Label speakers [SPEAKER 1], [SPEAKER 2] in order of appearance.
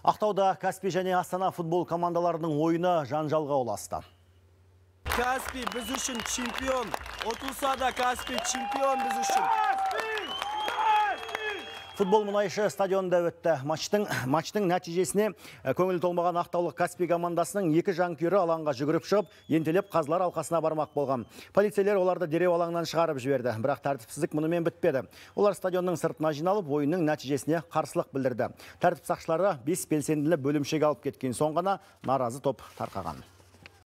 [SPEAKER 1] Ақтауда Каспий және Астана футбол командаларының ойыны жанжалға ұласты.
[SPEAKER 2] Каспий біз үшін чемпион. Отылса да Каспий чемпион біз үшін.
[SPEAKER 1] Футбол мұнайшы стадионда өтті. Матчтың нәтижесіне көңіл толмаған ақтаулық Каспий командасының екі жанкүйері алаңға жүгіріп шығып, ентелеп қазылар алқасына бармақ болған. Полицейлер оларды дереу алаңнан шығарып жіберді, бірақ тәртіпсіздік мұнымен бітпеді. Олар стадионның сыртына жиналып, ойынның нәтижесіне қарсылық білдірді. Тәртіп сақшылары 5 белсенділі бөлімшеге алып кеткен соң ғана наразы топ тарқаған.